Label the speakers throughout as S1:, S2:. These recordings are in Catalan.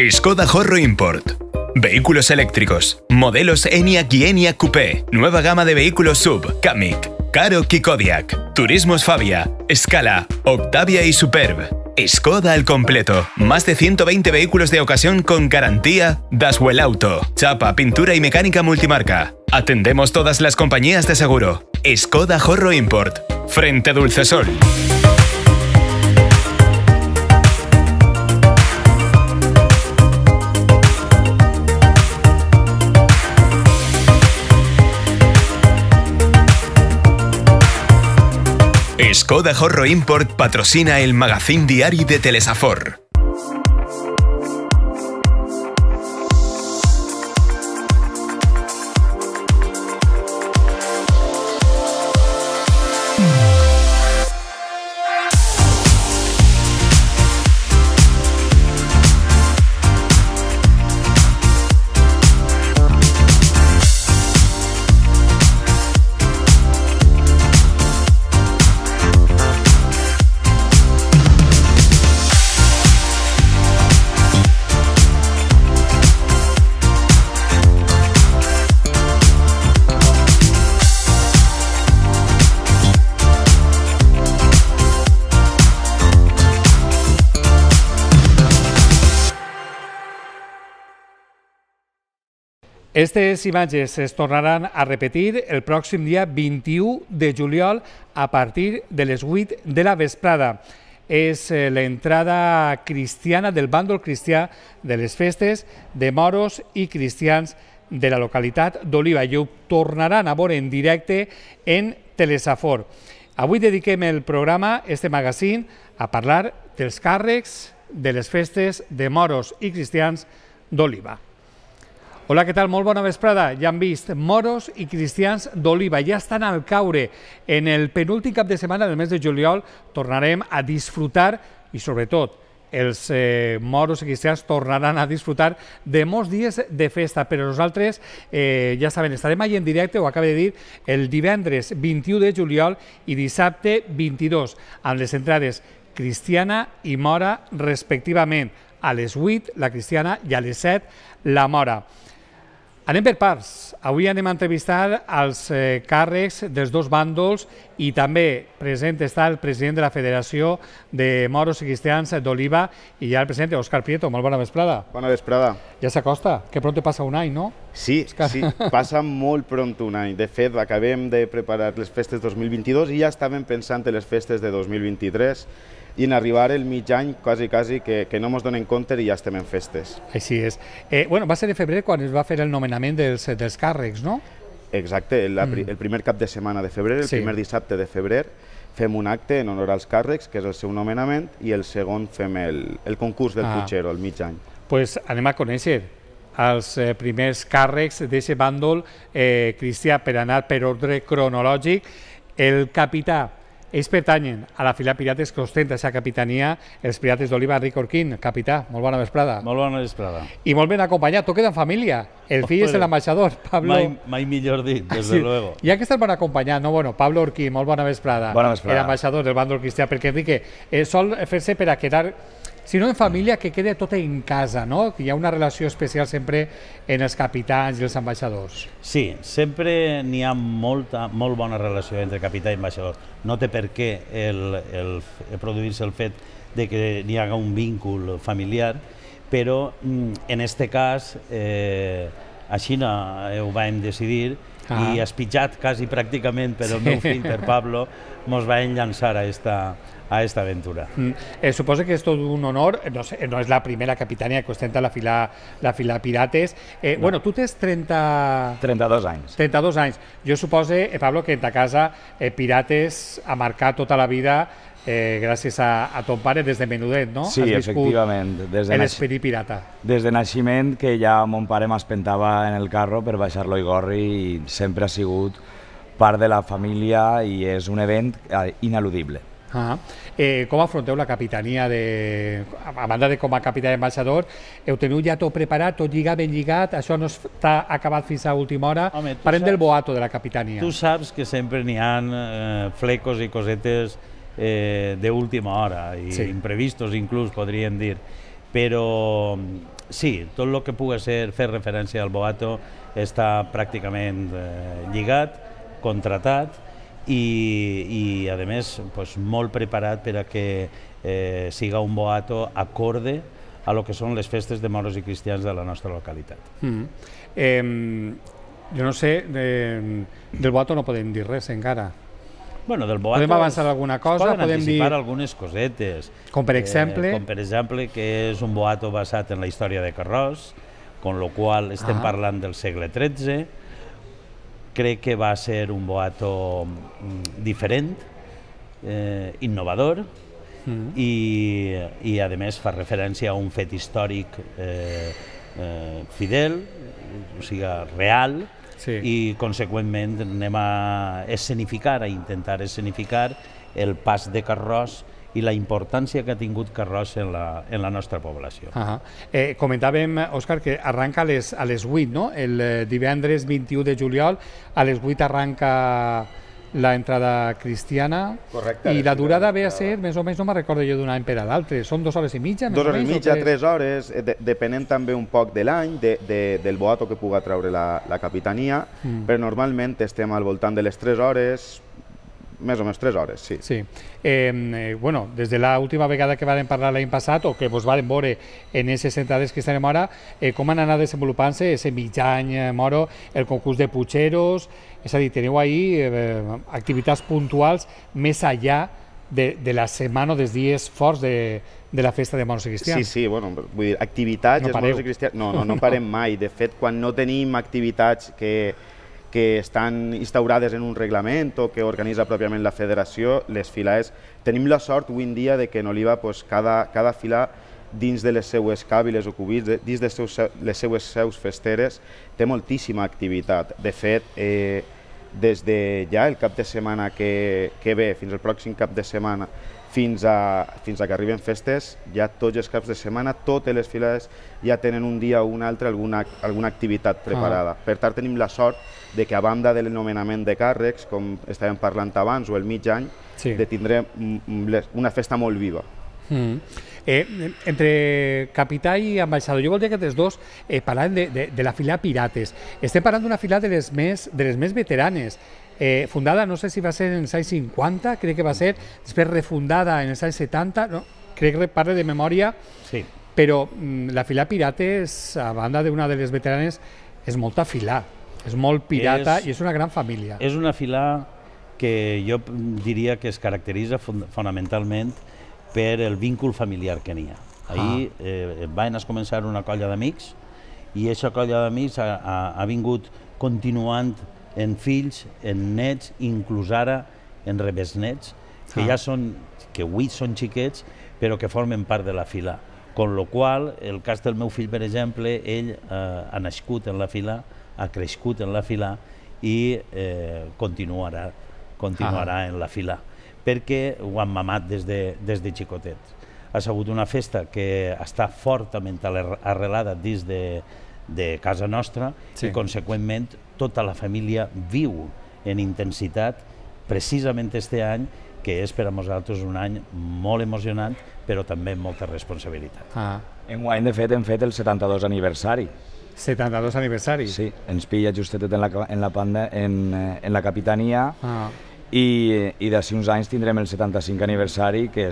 S1: Skoda Horro Import. Vehículos eléctricos. Modelos Enyaq y Enyaq Coupé. Nueva gama de vehículos SUV, Kamiq, Karoq y Kodiaq. Turismos Fabia, Scala, Octavia y Superb. Skoda al completo. Más de 120 vehículos de ocasión con garantía Daswell Auto. Chapa, pintura y mecánica multimarca. Atendemos todas las compañías de seguro. Skoda Horro Import. Frente Dulcesol. Skoda Horro Import patrocina el magazín diari de Telesafor.
S2: Aquestes imatges es tornaran a repetir el pròxim dia 21 de juliol a partir de les 8 de la vesprada. És l'entrada cristiana del bàndol cristià de les festes de moros i cristians de la localitat d'Oliva i ho tornaran a veure en directe en Telesafor. Avui dediquem el programa, este magazín, a parlar dels càrrecs de les festes de moros i cristians d'Oliva. Hola, què tal? Molt bona vesprada. Ja han vist moros i cristians d'Oliva. Ja estan al caure. En el penúltim cap de setmana del mes de juliol tornarem a disfrutar i, sobretot, els moros i cristians tornaran a disfrutar de molts dies de festa. Però nosaltres, ja saben, estarem allà en directe, ho acaba de dir, el divendres 21 de juliol i dissabte 22, amb les entrades cristiana i mora respectivament. A les 8 la cristiana i a les 7 la mora. Anem per parts. Avui anem a entrevistar els càrrecs dels dos bàndols i també present està el president de la Federació de Moros i Cristians d'Oliva i ja el president Òscar Prieto. Molt bona vesprada.
S3: Bona vesprada.
S2: Ja s'acosta, que pronto passa un any, no?
S3: Sí, sí, passa molt pronto un any. De fet, acabem de preparar les festes 2022 i ja estàvem pensant en les festes de 2023 i en arribar el mig any, quasi que no ens donem compte i ja estem en festes.
S2: Així és. Bueno, va ser de febrer quan es va fer el nomenament dels càrrecs, no?
S3: Exacte, el primer cap de setmana de febrer, el primer dissabte de febrer, fem un acte en honor als càrrecs, que és el seu nomenament, i el segon fem el concurs del Puigero, al mig any.
S2: Doncs anem a conèixer els primers càrrecs d'aquest bàndol cristià per anar per ordre cronològic. El capità. Ells pertanyen a la fila Pirates que ostenta aquesta capitania, els Pirates d'Oliva. Enric Orquín, capità, molt bona vesprada.
S4: Molt bona vesprada.
S2: I molt ben acompanyat, tot queda en família. El fill és l'ambaixador, Pablo...
S4: Mai millor dit, des de luego.
S2: Ja que estàs ben acompanyat, no? Bueno, Pablo Orquín, molt bona vesprada.
S4: Bona vesprada.
S2: L'ambaixador del bàndol cristià, perquè Enrique sol fer-se per a quedar... Si no en família, que quede tot en casa, no? Que hi ha una relació especial sempre en els capitans i els ambaixadors.
S4: Sí, sempre n'hi ha molt bona relació entre capità i ambaixador. No té per què produir-se el fet de que n'hi haga un víncul familiar, però en aquest cas així ho vam decidir i espitjat quasi pràcticament per el meu fill, per Pablo, ens vam llançar a aquesta aventura.
S2: Suposo que és tot un honor, no és la primera capitania que ostenta la fila Pirates. Bueno, tu tens
S5: 32 anys.
S2: 32 anys. Jo suposo, Pablo, que en ta casa Pirates ha marcat tota la vida gràcies a ton pare des de menudet, no?
S5: Sí, efectivament.
S2: En l'esperit pirata.
S5: Des de naixement, que ja mon pare m'espentava en el carro per baixar l'Oigorri i sempre ha sigut part de la família i és un event ineludible.
S2: Com afronteu la capitania a banda de com a capità i ambaixador? Heu tingut ja tot preparat, tot lligat, ben lligat? Això no està acabat fins a última hora? Parlem del boato de la capitania.
S4: Tu saps que sempre n'hi ha flecos i cosetes d'última hora i imprevistos inclús, podríem dir. Però sí, tot el que pugui fer referència al boato està pràcticament lligat, contratat i a més molt preparat per a que siga un boato acorde a lo que són les festes de moros i cristians de la nostra localitat.
S2: Jo no sé, del boato no podem dir res encara.
S4: Bueno, del boato
S2: podem avançar alguna cosa?
S4: Podem anticipar algunes cosetes.
S2: Com per exemple?
S4: Com per exemple que és un boato basat en la història de Carròs, con lo qual estem parlant del segle XIII. Crec que va ser un boato diferent, innovador, i a més fa referència a un fet històric fidel, o sigui, real, i conseqüentment anem a escenificar, a intentar escenificar el pas de Carròs i la importància que ha tingut Carròs en la nostra població.
S2: Comentàvem, Òscar, que arranca a les 8, no? El divendres 21 de juliol, a les 8 arranca la entrada cristiana.
S3: Correcte.
S2: I la durada ve a ser, més o menys, no me'n recordo jo d'un any per a l'altre, són 2 hores i mitja?
S3: 2 hores i mitja, 3 hores, depenent també un poc de l'any, del boato que puga treure la capitania, però normalment estem al voltant de les 3 hores, més o menys 3 hores, sí.
S2: Sí. Bueno, des de l'última vegada que vam parlar l'any passat, o que vos vam veure en aquestes entrades que estarem ara, com han anat desenvolupant-se aquest mig any moro, el concurs de putxeros, és a dir, teniu ahí activitats puntuals més enllà de la setmana o dels dies forts de la festa de moros i cristians.
S3: Sí, bueno, vull dir, activitats de moros i cristians, no parem mai. De fet, quan no tenim activitats que estan instaurades en un reglament o que organitza pròpiament la federació, les filades, tenim la sort avui en dia de que en Oliva cada fila dins de les seues càbiles o cubits, dins de les seues seus festeres, té moltíssima activitat. De fet, des de ja el cap de setmana que ve, fins al pròxim cap de setmana, fins a que arriben festes, ja tots els caps de setmana, totes les filades ja tenen un dia o un altre alguna activitat preparada. Per tant, tenim la sort de que a banda de l'anomenament de càrrecs, com estàvem parlant abans, o el mig any, de tindre una festa molt viva.
S2: Entre capità i ambaixador, jo voldria que aquests dos parlem de la fila Pirates. Estem parlant d'una fila de les més veteranes, fundada, no sé si va ser en els anys 50, crec que va ser, després refundada en els anys 70, crec que parla de memòria, però la fila Pirates, a banda d'una de les veteranes, és molta fila, és molt pirata i és una gran família.
S4: És una fila que jo diria que es caracteritza fonamentalment per el vincul familiar que n'hi ha. Ahir van començar una colla d'amics i aquesta colla d'amics ha vingut continuant en fills, en nets, inclús ara en rebesnets, que ja són, que avui són xiquets, però que formen part de la fila. Con lo qual, el cas del meu fill, per exemple, ell ha nascut en la fila, ha crescut en la fila i continuarà en la fila, perquè ho han mamat des de xicotets. Ha sigut una festa que està fortament arrelada dins de casa nostra i, conseqüentment, tota la família viu en intensitat precisament este any, que és per a nosaltres un any molt emocionant, però també amb molta responsabilitat.
S5: Enguany, de fet, hem fet el 72 aniversari.
S2: 72 aniversari?
S5: Sí, ens pilla justet en la capitania i d'ací uns anys tindrem el 75 aniversari, que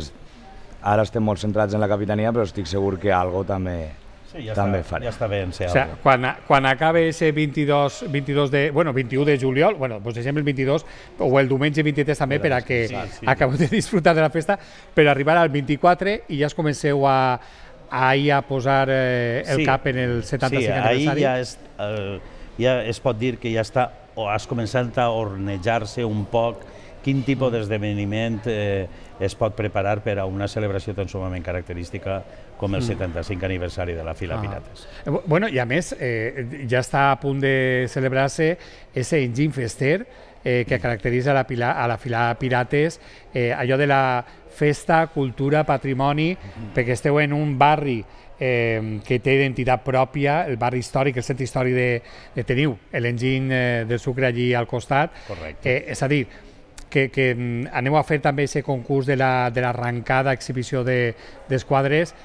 S5: ara estem molt centrats en la capitania, però estic segur que algo també farem.
S4: Ja està bé en ser
S2: algo. O sigui, quan acabe ese 21 de juliol, doncs deixem el 22 o el diumenge 23 també per a que acabeu de disfrutar de la festa, per arribar al 24 i ja es comenceu a posar el cap en el 75 aniversari.
S4: Sí, ja es pot dir que ja està, o has començat a ornejar-se un poc quin tipus d'esdeveniment es pot preparar per a una celebració tan sumament característica com el 75 aniversari de la fila Pirates.
S2: Bueno, i a més, ja està a punt de celebrar-se ese enginy fester que caracteritza a la fila Pirates, allò de la festa, cultura, patrimoni, perquè esteu en un barri que té identitat pròpia, el barri històric, el centre històric de Teniu, l'enginy del sucre allí al costat.
S4: Correcte.
S2: És a dir, que aneu a fer també aquest concurs de l'arrencada, exhibició d'esquadres,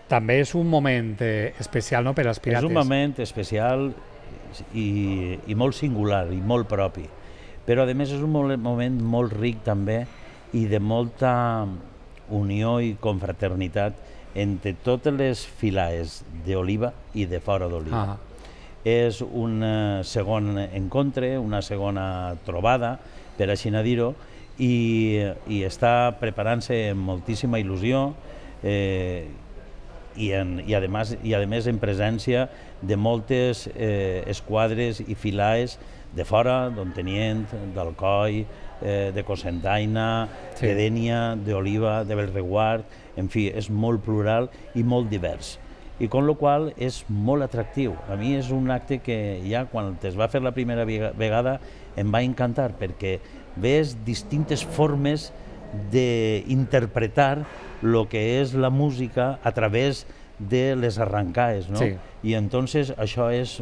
S2: també és un moment especial, no?, per als pirates.
S4: És un moment especial i molt singular i molt propi, però a més és un moment molt ric també i de molta unió i confraternitat entre totes les filaes d'Oliva i de fora d'Oliva. És un segon encontre, una segona trobada, per així dir-ho, i està preparant-se amb moltíssima il·lusió i a més en presència de moltes esquadres i filaes de fora, d'Ontenient, d'Alcoi, de Cocentaina, de Dénia, d'Oliva, de Bellreguard, en fi, és molt plural i molt divers. I con la qual és molt atractiu. A mi és un acte que ja quan es va fer la primera vegada em va encantar, perquè ves distintes formes d'interpretar el que és la música a través de les arrancaes, ¿no?
S2: Sí.
S4: Y entonces això és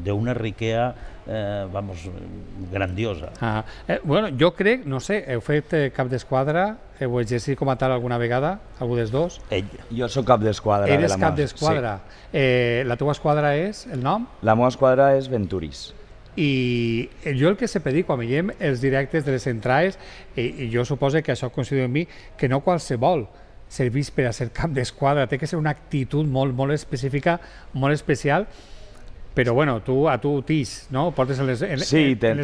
S4: de una riquea, vamos, grandiosa.
S2: Bueno, jo crec, no sé, heu fet cap d'esquadra, heu exercit com a tal alguna vegada, algú dels dos?
S4: Ell.
S5: Jo sóc cap d'esquadra.
S2: Eres cap d'esquadra. La teva esquadra és el nom?
S5: La meva esquadra és Venturis.
S2: I jo el que sempre dic, quan veiem els directes de les entrades, i jo suposo que això coincidiu amb mi, que no qualsevol serveix per a ser cap d'esquadra, té que ser una actitud molt específica, molt especial, però bueno, a tu tix, no? Portes en les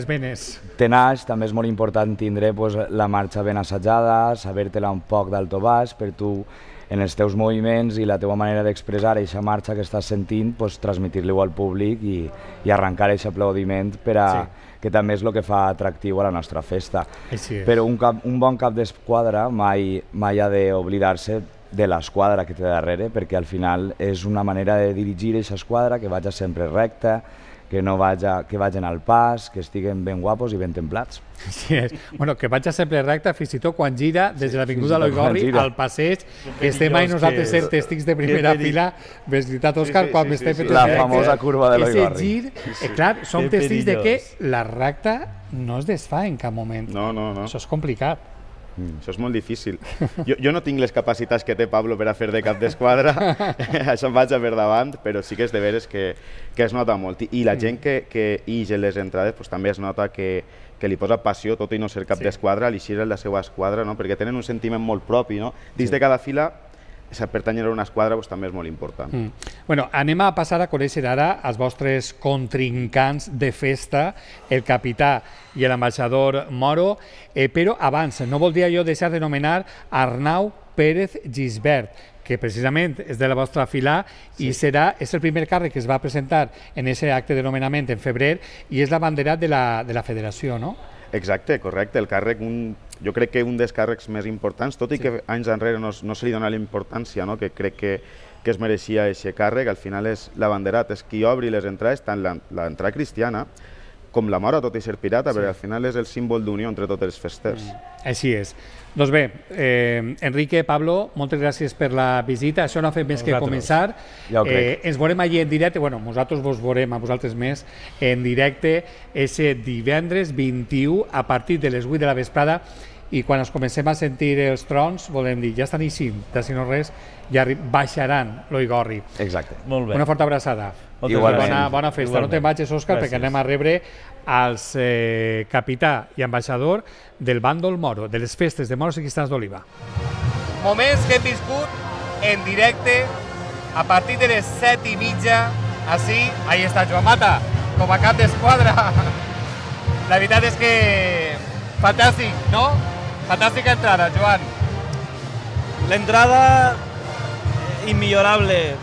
S2: venes.
S5: Tenaix, també és molt important tindre la marxa ben assajada, saber-te-la un poc d'alto baix, per tu en els teus moviments i la teva manera d'expressar aquesta marxa que estàs sentint, transmetir-li-ho al públic i arrencar aquest aplaudiment per a que també és el que fa atractiu a la nostra festa. Però un bon cap d'esquadra mai ha d'oblidar-se de l'esquadra que té darrere, perquè al final és una manera de dirigir aquesta esquadra que vagi sempre recta, que vagin al pas, que estiguen ben guapos i ben templats.
S2: Sí, bueno, que vagi sempre recta, fins i tot quan gira des de l'avinguda Eloi Gorri al passeig, que estem mai nosaltres ser tèstics de primera fila, ves veritat, Òscar, quan m'estem fent
S5: la famosa curva de l'Eloi Gorri.
S2: Clar, som tèstics de que la recta no es desfà en cap moment.
S3: No.
S2: Això és complicat.
S3: Això és molt difícil. Jo no tinc les capacitats que té Pablo per a fer de cap d'esquadra, això em vaig a per davant, però sí que és de veres que es nota molt. I la gent que ix en les entrades també es nota que li posa passió, tot i no ser cap d'esquadra, a l'eixir la seva esquadra, perquè tenen un sentiment molt propi. Dins de cada fila, pertànyer a una esquadra també és molt important.
S2: Bueno, anem a passar a conèixer ara els vostres contrincants de festa, el capità i l'ambaixador Moro, però abans no voldria jo deixar d'anomenar Arnau Pérez Gisbert, que precisament és de la vostra fila i és el primer càrrec que es va presentar en aquest acte de nomenament en febrer i és l'abanderat de la federació, no?
S3: Exacte, correcte. El càrrec, jo crec que un dels càrrecs més importants, tot i que anys enrere no se li dona la importància que crec que es mereixia aquest càrrec, al final és l'abanderat, és qui obri les entrades, tant l'entrada cristiana com la mora, tot i ser pirata, perquè al final és el símbol d'unió entre tots els festers.
S2: Així és. Doncs bé, Enrique, Pablo, moltes gràcies per la visita. Això no ha fet més que començar. Ens veurem allí en directe, bueno, nosaltres vos veurem a vosaltres més en directe, ese divendres 21 a partir de les 8 de la vesprada, i quan ens comencem a sentir els trons, volem dir, ja estan eixint, si no res, ja baixaran l'Eloi Gorri.
S5: Exacte.
S4: Molt bé.
S2: Una forta abraçada. Bona festa. No te'n vagis, Òscar, perquè anem a rebre als capità i ambaixador del bàndol Moro, de les festes de Moros i Cristians d'Oliva. Moments que hem viscut en directe a partir de les 7:30, així, ahí està Joan Mata, com a cap d'esquadra. La veritat és que fantàstic, no? Fantàstica entrada, Joan.
S6: L'entrada immillorable.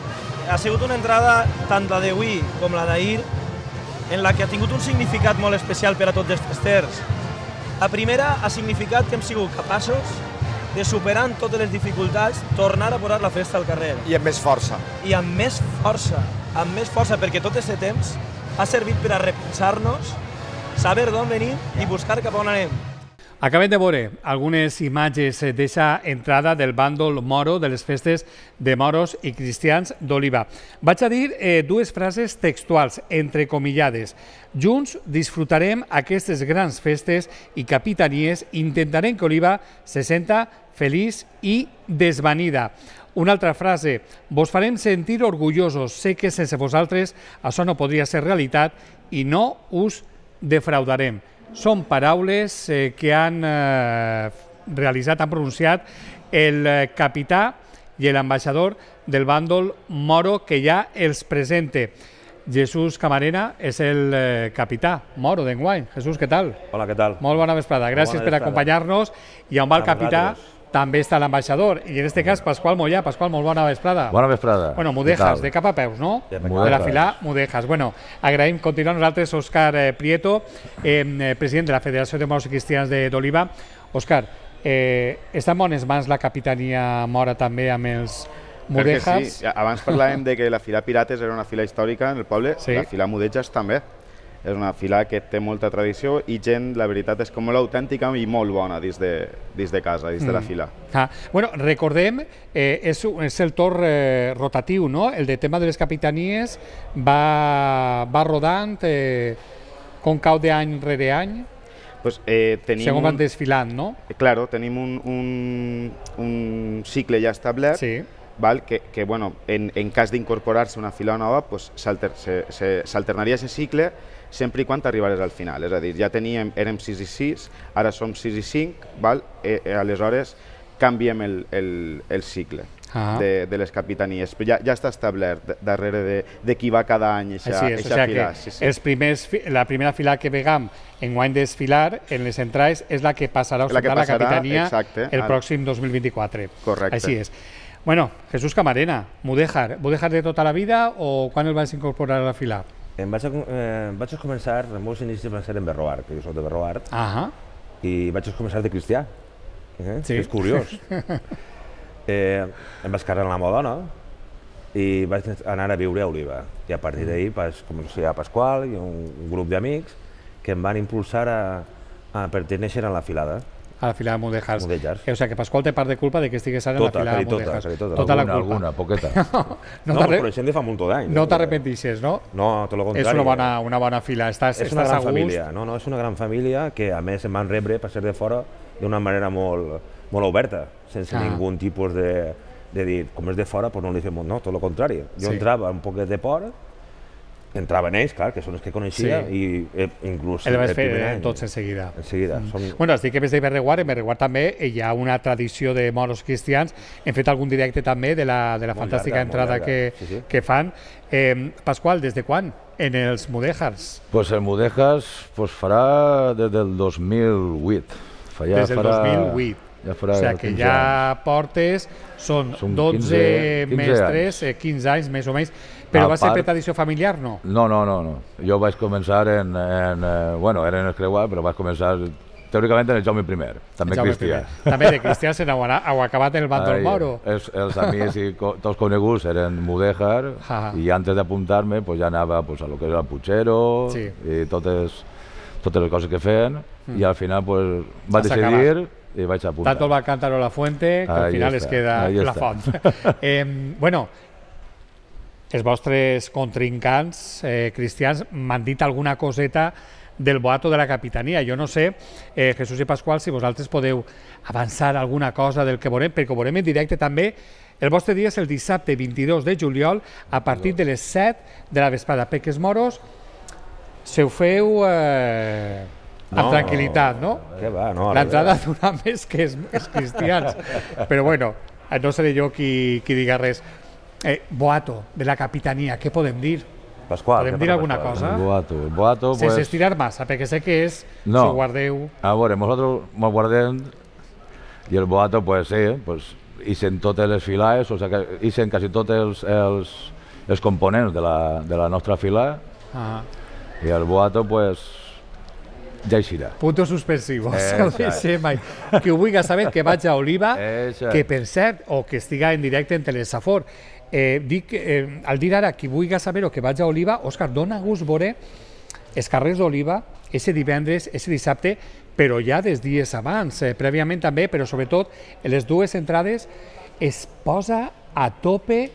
S6: Ha sigut una entrada, tant la d'avui com la d'ahir, en la que ha tingut un significat molt especial per a tots els festers. La primera ha significat que hem sigut capaços de, superant totes les dificultats, tornar a posar la festa al carrer.
S7: I amb més força.
S6: I amb més força, perquè tot aquest temps ha servit per a repensar-nos, saber d'on venim i buscar cap on anem.
S2: Acabem de veure algunes imatges d'aquesta entrada del bàndol moro de les festes de moros i cristians d'Oliva. Vaig a dir dues frases textuals, entrecomillades. Junts disfrutarem aquestes grans festes i capitanies i intentarem que Oliva se senta feliç i desvanida. Una altra frase, vos farem sentir orgullosos, sé que sense vosaltres això no podria ser realitat i no us defraudarem. Són paraules que han realitzat, han pronunciat el capità i l'ambaixador del bàndol moro que ja els presenta. Jesús Camarena és el capità moro d'enguany. Jesús, què tal?
S7: Hola, què tal?
S2: Molt bona vesprada. Gràcies per acompanyar-nos. I on va el capità també està l'ambaixador. I en aquest cas, Pasqual Mollà. Pasqual, molt bona vesprada.
S5: Bona vesprada.
S2: Bueno, Mudejas, de cap a peus, no? De la fila Mudejas. Bueno, agraïm continuar nosaltres Òscar Prieto, president de la Federació de Moros i Cristians d'Oliva. Òscar, està en bones mans la capitania mora també amb els Mudejas?
S3: Sí. Abans parlàvem de que la fila Pirates era una fila històrica en el poble, la fila Mudejas també. És una fila que té molta tradició i gent, la veritat, és com molt autèntica i molt bona dins de casa, dins de la fila.
S2: Bueno, recordem, és el torn rotatiu, no? El de tema de les capitanies va rodant com cau d'any rere any, segons van desfilant, no?
S3: Claro, tenim un cicle ja establert, que en cas d'incorporar-se una fila nova s'alternaria aquest cicle sempre i quan arribarés al final. És a dir, ja érem 6 i 6, ara som 6 i 5, aleshores canviem el cicle de les capitanies. Però ja està establert darrere de qui va cada any aquesta fila.
S2: La primera fila que vegam enguany desfilar en les entrades és la que passarà a ostentar la capitania el pròxim 2024.
S3: Correcte.
S2: Així és. Bueno, Jesús Camarena, Mudéjar de tota la vida o quan el vas incorporar a la fila?
S7: Vaig començar, els meus inicis van ser en Berroar, que jo soc de Berroar, i vaig començar de cristià, que és curiós. Em vaig casar amb la meva dona i vaig anar a viure a Oliva. I a partir d'ahir vaig conèixer a Pasqual i un grup d'amics que em van impulsar a pertenèixer a la filada.
S2: A la fila de Mudéjar. O sigui que Pasqual té part de culpa de que estigués ara en la fila de Mudéjar.
S7: Tota
S2: la culpa.
S5: Alguna, poqueta.
S7: No, ens coneixem de fa molt d'any.
S2: No t'arrepentixes, no?
S7: No, tot el contrari.
S2: És una bona fila, estàs a gust.
S7: És una gran família, és una gran família que a més em van rebre per ser de fora d'una manera molt oberta, sense ningú tipus de dir, com és de fora, no li fem no, tot el contrari. Jo entrava un poquet de por, entraven ells, clar, que són els que coneixia, i inclús
S2: el vaig fer tots en seguida. Bueno, has dit que ves de Berreguar, en Berreguar també hi ha una tradició de moros cristians, hem fet algun directe també de la fantàstica entrada que fan. Pasqual, des de quan en els Mudéjars?
S5: Pues el Mudéjars farà des del 2008.
S2: Des del 2008. O sigui que ja portes, són 12 mestres, 15 anys més o menys, però va ser per tradició familiar, no?
S5: No. Jo vaig començar bueno, era en el Creuat, però vaig començar teòricament en el Jaume I, també cristià. També
S2: de cristià heu acabat en el bàndol moro.
S5: Els amics i tots coneguts eren Mudéjar i antes d'apuntar-me ja anava a lo que era el Puigero i totes les coses que feien i al final vaig decidir i vaig apuntar.
S2: Tanto el cántaro a la fuente, que al final es queda la font. Bueno, els vostres contrincants cristians m'han dit alguna coseta del boato de la capitania. Jo no sé, Jesús i Pasqual, si vosaltres podeu avançar alguna cosa del que veurem, perquè ho veurem en directe també. El vostre dia és el dissabte 22 de juliol a partir de les 7 de la vesprada, perquè els moros se ho feu amb tranquil·litat, no? L'entrada dura més que els cristians. Però bueno, no seré jo qui diga res. Boato de la capitania, què podem dir?
S7: Pasqual,
S2: podem dir alguna cosa?
S5: El boato,
S2: sense estirar massa, perquè sé que és, si ho guardeu...
S5: A veure, nosaltres ho guardem i el boato, sí, ixen totes les filades, o sigui, ixen quasi tots els components de la nostra fila i el boato, ja eixirà.
S2: Puntos suspensivos. Que ho vulgui saber, que vaig a Oliva, que per cert, o que estiga en directe en Telesafor. Al dir ara qui vulgui saber o que vaig a Oliva, Òscar, dona gust veure els carrers d'Oliva, ese divendres, ese dissabte, però ja des dies abans, prèviament també, però sobretot en les dues entrades es posa a tope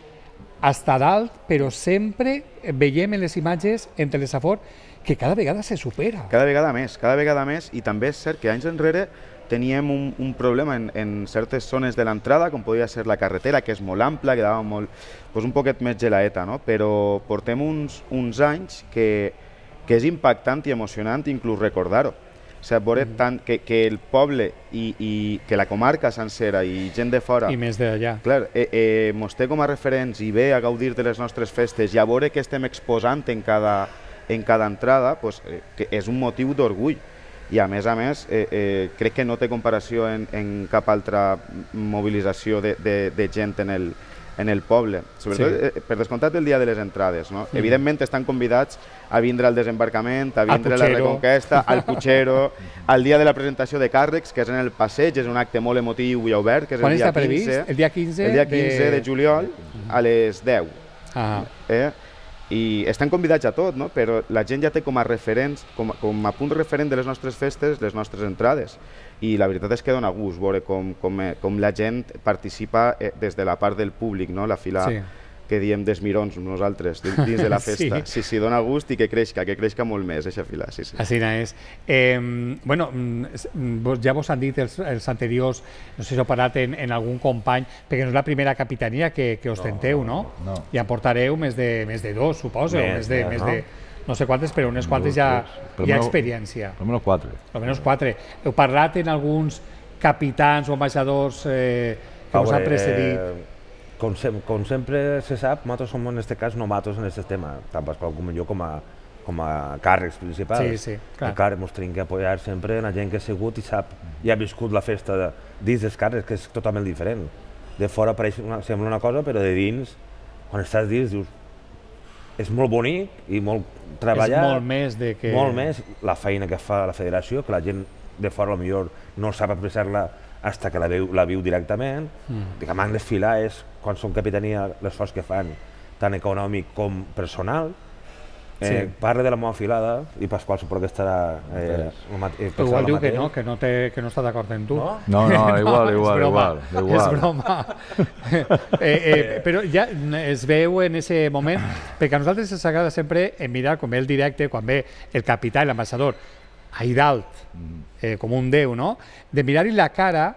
S2: hasta dalt, però sempre veiem en les imatges en Telesafor que cada vegada se supera.
S3: Cada vegada més, i també és cert que anys enrere teníem un problema en certes zones de l'entrada, com podia ser la carretera, que és molt ampla, que dava un poquet més gelaeta, no? Però portem uns anys que és impactant i emocionant inclús recordar-ho. O sigui, veure tant que el poble i que la comarca sencera i gent de fora...
S2: I més d'allà.
S3: Clar, mos té com a referents i ve a gaudir de les nostres festes i a veure què estem exposant en cada entrada, que és un motiu d'orgull. I a més, crec que no té comparació en cap altra mobilització de gent en el poble. Sobretot, per descomptat, el dia de les entrades. Evidentment, estan convidats a vindre al desembarcament, a vindre a la Reconquesta, al Puigero, al dia de la presentació de càrrecs, que és en el passeig, és un acte molt emotiu i obert, que és el dia 15.
S2: El dia 15?
S3: El dia 15 de juliol, a les 10. I estan convidats a tot, però la gent ja té com a referents, com a punt referent de les nostres festes, les nostres entrades. I la veritat és que dona gust veure com la gent participa des de la part del públic, la fila que diem d'esmirons nosaltres dins de la festa. Sí, dona gust i que creixca molt més aquesta fila.
S2: Així és. Bueno, ja vos han dit els anteriors, no sé si heu parlat en algun company, perquè no és la primera capitania que ostenteu, no? I en portareu més de dos, suposo, més de no sé quantes, però unes quantes ja hi ha experiència.
S8: Almenys 4.
S2: Almenys 4. Heu parlat en alguns capitans o ambaixadors que us han precedit?
S7: Com sempre se sap, nosaltres som en aquest cas novatos en aquest tema, tant Pasqual com jo com a càrrecs principals. Encara ens tenim que apoyar sempre en la gent que ha sigut i sap i ha viscut la festa dins dels càrrecs, que és totalment diferent. De fora sembla una cosa, però de dins, quan estàs dins, dius és molt bonic i molt treballat.
S2: És molt més de que...
S7: Molt més la feina que fa la federació, que la gent de fora potser no sap apreciar-la fins que la viu directament. Diguem, en desfilar és, quan són capitania, l'esforç que fan, tant econòmic com personal. Parla de la meva filada i Pasqual suposo que estarà...
S2: Igual diu que no està d'acord amb tu.
S8: No, igual.
S2: És broma. Però ja es veu en aquest moment, perquè a nosaltres ens agrada sempre mirar, com ve el directe, quan ve el capità i l'ambaixador, ahí dalt, com un déu, no? De mirar-hi la cara,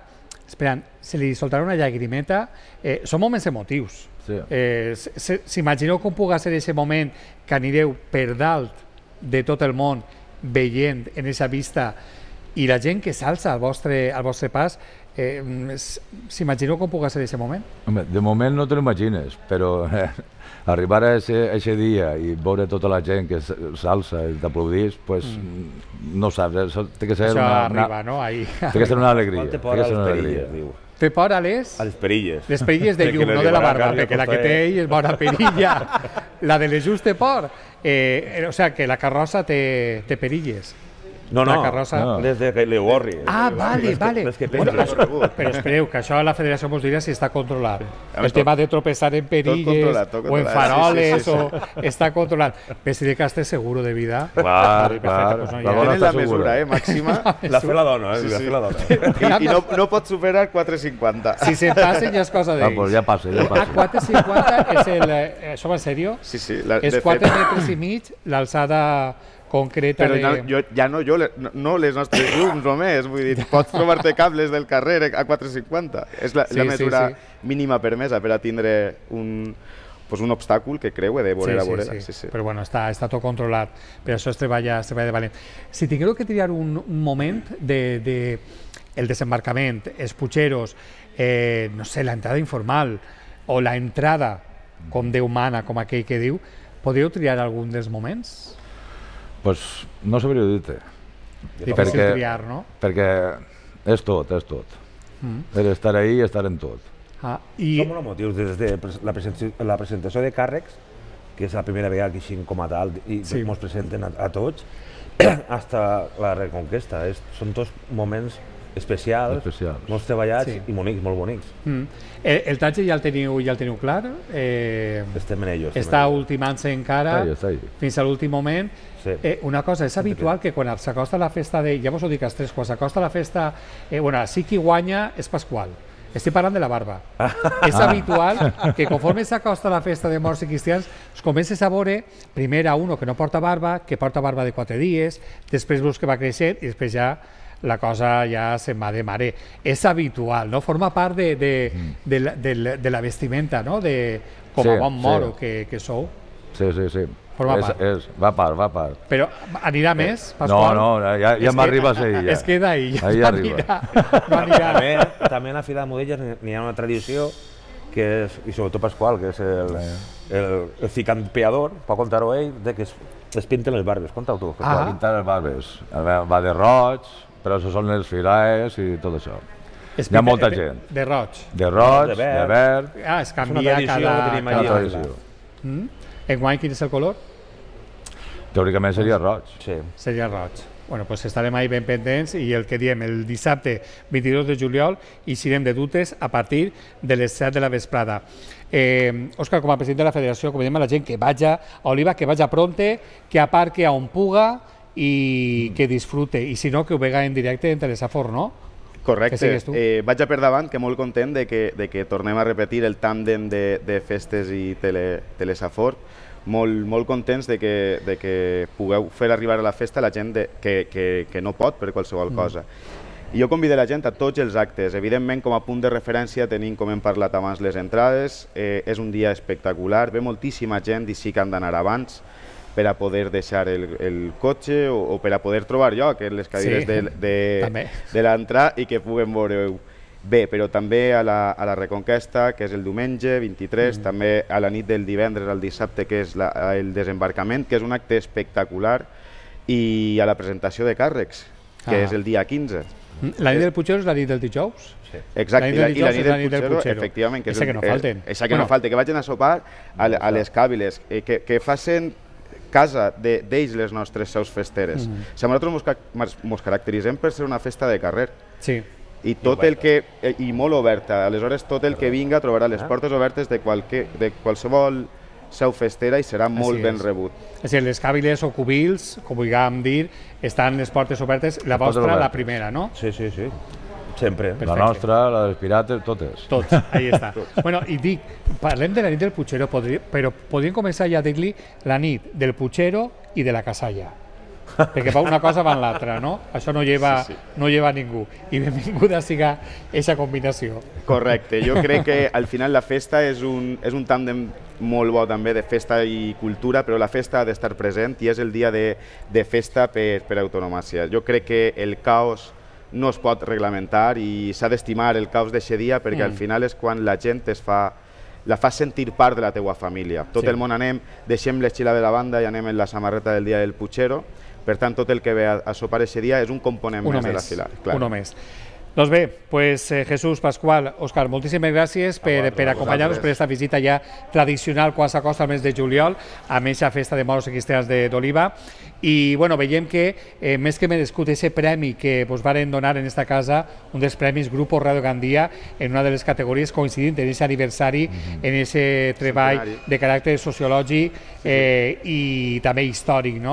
S2: esperant, se li soltarà una llagrimeta. Són moments emotius. S'imagineu com pugui ser aquest moment que anireu per dalt de tot el món veient en aquesta vista i la gent que s'alça al vostre pas, s'imagineu com pugui ser aquest moment?
S8: De moment no te l'imagines, però arribar a aquest dia i veure tota la gent que s'alça i t'aplaudís, no saps, té que ser una alegria.
S2: Té por a les
S7: perilles.
S2: Les perilles de llum, no de la barba, perquè la que té ell és bona perilla. La de les just té por. O sigui, que la carrossa té perilles.
S7: No, des de que l'Eugorri.
S2: Vale. Però espereu, que això la federació mos dirà si està controlat. El tema de tropeçar en perilles o en faroles està controlat. Però si de que estàs seguro de vida...
S8: Clar.
S3: Tenen la mesura màxima.
S7: La fe la dona,
S3: I no pot superar 4,50.
S2: Si se'n passen ja és cosa d'ells.
S8: Ja passa.
S2: 4,50 és el... Això va en sèrio?
S3: Sí.
S2: És 4 metres i mig l'alçada concreta de...
S3: Però ja no les nostres llums només, vull dir, pots trobar-te cables del carrer a 4,50. És la mesura mínima permesa per a tindre un obstàcul que creue de vorera a vorera.
S2: Però bueno, està tot controlat, per això es treballa de valent. Si tingueu que triar un moment el desembarcament, els Puigeros, no sé, l'entrada informal o l'entrada com Déu mana, com aquell que diu, podríeu triar algun dels moments?
S8: Doncs no sabria dir-te.
S2: Difícil triar, no?
S8: Perquè és tot. Estar ahí i estar en tot.
S7: Som molt motius des de la presentació de càrrecs, que és la primera vegada que així com a tal i ens presenten a tots, fins a la Reconquesta. Són tots moments especials, molts treballats i bonics, molt bonics.
S2: El tatge ja el teniu clar?
S7: Estem en ello.
S2: Està ultimant-se encara fins a l'últim moment. Una cosa, és habitual que quan s'acosta la festa de... Ja vos ho dic als tres, quan s'acosta la festa... Bueno, sí qui guanya és Pasqual. Estic parlant de la barba. És habitual que conforme s'acosta la festa de morts i cristians es comences a veure primer a uno que no porta barba, que porta barba de 4 dies, després veus que va creixent i després ja la cosa ja se'n va de mare. És habitual, no? Forma part de la vestimenta, no? Com a bon moro que sou.
S8: Sí. Va part.
S2: Però anirà més, Pasqual?
S8: No, ja m'arriba a ser ja.
S2: Es queda ahí, ja no anirà.
S7: També a la Fira de Mudelles n'hi ha una tradició, i sobretot Pasqual, que és el ficampeador, pot contar-ho ell, que es pinten les barbes. Conta-ho tu.
S8: Pintar les barbes. Va de roig, però això són les filaes i tot això. Hi ha molta gent.
S2: De roig?
S8: De roig, de verd...
S2: Es canvia cada
S8: tradició.
S2: Enguany, quin és el color?
S8: Teòricament seria roig.
S2: Seria roig. Bueno, doncs estarem ahí ben pendents i el que diem, el dissabte 22 de juliol eixirem de dutes a partir de les 7 de la vesprada. Òscar, com a president de la federació, com diem a la gent que vaja a Oliva, que vaja pronte, que aparque on puga i que disfrute, i si no, que ho vega en directe en Telesafor, no?
S3: Correcte. Vaig a per davant, que molt content de que tornem a repetir el tàndem de festes i Telesafor. Molt contents de que pugueu fer arribar a la festa la gent que no pot per qualsevol cosa. I jo convido la gent a tots els actes. Evidentment, com a punt de referència, tenim, com hem parlat abans, les entrades. És un dia espectacular, ve moltíssima gent i sí que han d'anar abans per a poder deixar el cotxe o per a poder trobar lloc en les cadires de l'entrada i que puguem veure bé, però també a la Reconquesta, que és el diumenge 23, també a la nit del divendres al dissabte, que és el desembarcament, que és un acte espectacular, i a la presentació de càrrecs, que és el dia 15.
S2: La nit del Puigero és la nit del dijous?
S3: Exacte, i la nit del Puigero, efectivament.
S2: Esa que no falten.
S3: Esa que no falten, que vagin a sopar a les càbiles, que facin casa d'ells les nostres seus festeres. Nosaltres ens caracteritzem per ser una festa de carrer.
S2: Sí.
S3: I molt oberta. Aleshores, tot el que vinga trobarà les portes obertes de qualsevol seu festera i serà molt ben rebut.
S2: És a dir, les càbiles o cubils, com vulguem dir, estan les portes obertes, la vostra, la primera, no?
S7: Sí. Sempre.
S8: La nostra, la dels pirates, totes.
S2: Tots, ahí està. Bueno, i dic, parlem de la nit del Puigero, però podríem començar ja a dir-li la nit del Puigero i de la Casalla. Perquè va una cosa va en l'altra, no? Això no lleva ningú. I benvinguda siga aquesta combinació.
S3: Correcte. Jo crec que al final la festa és un tàndem molt bo també de festa i cultura, però la festa ha d'estar present i és el dia de festa per autonomàcia. Jo crec que el caos no es pot reglamentar i s'ha d'estimar el caos d'aquest dia perquè al final és quan la gent la fa sentir part de la teua família. Tot el món anem, deixem l'esquila de la banda i anem en la samarreta del dia del Puigero. Per tant, tot el que ve a sopar aquest dia és un component més de la fila.
S2: Uno més. Doncs bé, Jesús, Pasqual, Òscar, moltíssimes gràcies per acompanyar-nos per aquesta visita ja tradicional quan s'acosta al mes de juliol a aquesta festa de moros i cristians d'Oliva. I veiem que més que merescut aquest premi que vos varen donar en aquesta casa, un dels premis Grupo Radio Gandia, en una de les categories coincidint en aquest aniversari, en aquest treball de caràcter sociològic i també històric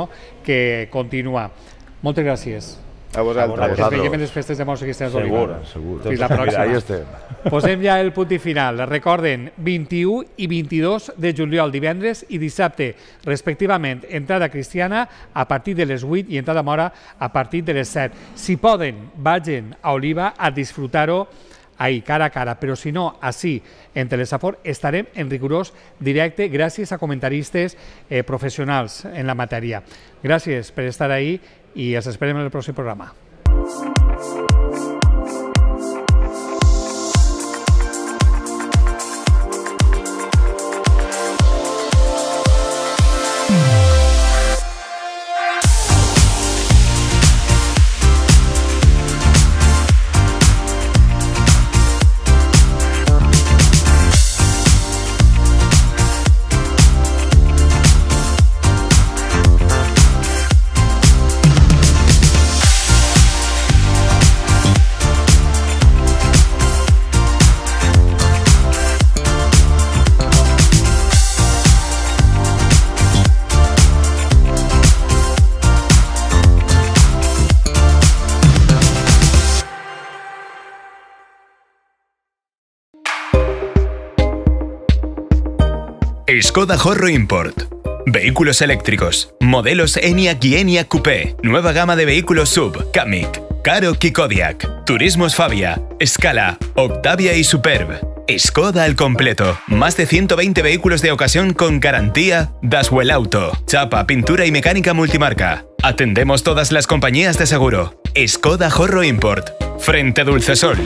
S2: que continua. Moltes gràcies.
S3: A vosaltres.
S2: Ens veiem en les festes de moros i cristians d'Oliva.
S8: Segur.
S2: Fins la pròxima.
S8: Ahí estem.
S2: Posem ja el punt i final. Recorden, 21 i 22 de juliol, divendres i dissabte, respectivament, entrada cristiana a partir de les 8 i entrada mora a partir de les 7. Si poden, vagin a Oliva a disfrutar-ho ahí, cara a cara, però si no, així, en Telesafor, estarem en rigorós directe gràcies a comentaristes professionals en la matèria. Gràcies per estar ahí i els esperem en el pròxim programa.
S1: Skoda Horro Import. Vehículos eléctricos. Modelos Enyaq y Enyaq Coupé. Nueva gama de vehículos SUV. Kamiq, Karoq y Kodiaq. Turismos Fabia, Scala, Octavia y Superb. Skoda al completo. Más de 120 vehículos de ocasión con garantía Daswell Auto. Chapa, pintura y mecánica multimarca. Atendemos todas las compañías de seguro. Skoda Horro Import. Frente Dulcesol.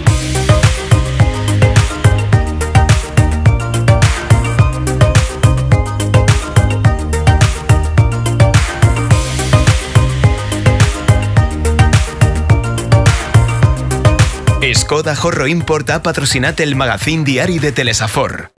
S1: Skoda Horro Import ha patrocinat el magazín diari de Telesafor.